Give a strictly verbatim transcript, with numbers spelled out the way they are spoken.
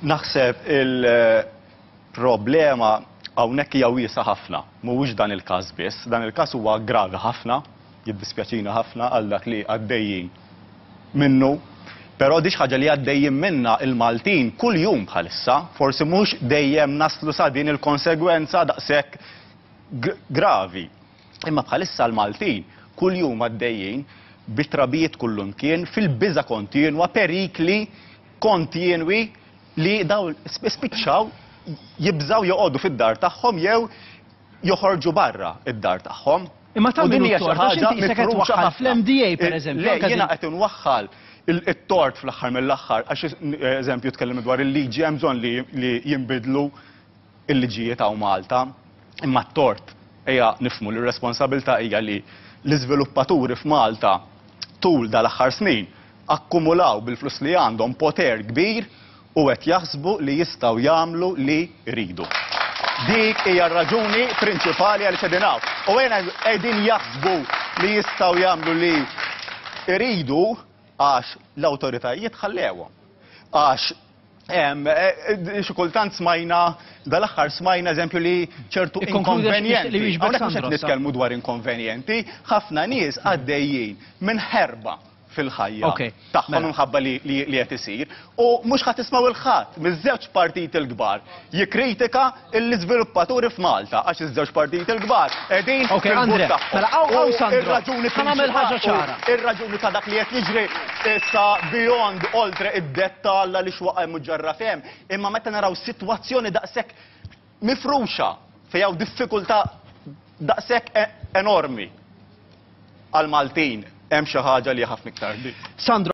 Naħseb il-problema hawnhekk hija wiesgħa ħafna, mhuwiex dan il-każ biss, dan il-każ huwa gravi ħafna, jiddispjaċina ħafna għal dak li għaddejjin minnu, però di ħaġa li għaddejjin minna il-Maltin kull jum bħalissa, forsi mhux dejjem naslu sa din il-konsegwenza daqshekk gravi. Imma bħalissa l-Maltin kull jum għaddejjin bit-trabijiet kullumkien, fil-biża kontinwa, perikli kontinwi li daw spiċċaw jibżaw joqogħdu fid-dar tagħhom jew joħorġu barra id-dar tagħhom. Imma ta' min hu ħaġa mifruxa fl-M D A per eżempju. Le, jiena qed inwaħħal it-tort fl-aħħar mill-aħħar, għax eżempju tkellem dwar il-liġi, hemm bżonn li jinbidlu il-liġijiet hawn Malta, imma t-tort, ejja nifhmu li r-responsabilità hija li l-iżviluppaturi f'Malta tul dal-aħħar snin akkumulaw bil-flus li għandhom poter kbir u qed jaħsbu li jistgħu jagħmlu li jridu. Dik hija r-raġuni prinċipali għal qegħdin hawn. U għena qegħdin jaħsbu li jistgħu jagħmlu li jridu għax l-awtoritajiet ħallewhom. Għax xi kultant smajna, dal-aħħar smajna eżempju li ċertu inkonvenjenti. Hawnhekk mhux qed nitkellmu dwar inkonvenjenti, ħafna nies għaddejjin minn ħerba fil-ħajja tagħhom mela. minħabba li qed isir. U mhux ħadd tismgħu il-ħadd miż-żewġ partiti l-kbar jikkritika l-iżviluppaturi f'Malta, għax iż-żewġ partiti l-kbar qegħdin fil-but tagħhom. Mela hawn Sandro, Ir-raġuni nagħmel ħaġa ċara. Ir-raġuni ta' dak li qed jiġri issa beyond oltre id-dettall li xwaqa hemm ġarra fem, imma meta naraw sitwazzjoni daqshekk mifruxa fejn hawn diffikultà daqshekk enormi għal-Maltin, hemm xi ħaġa li ħafna iktar. Sandro.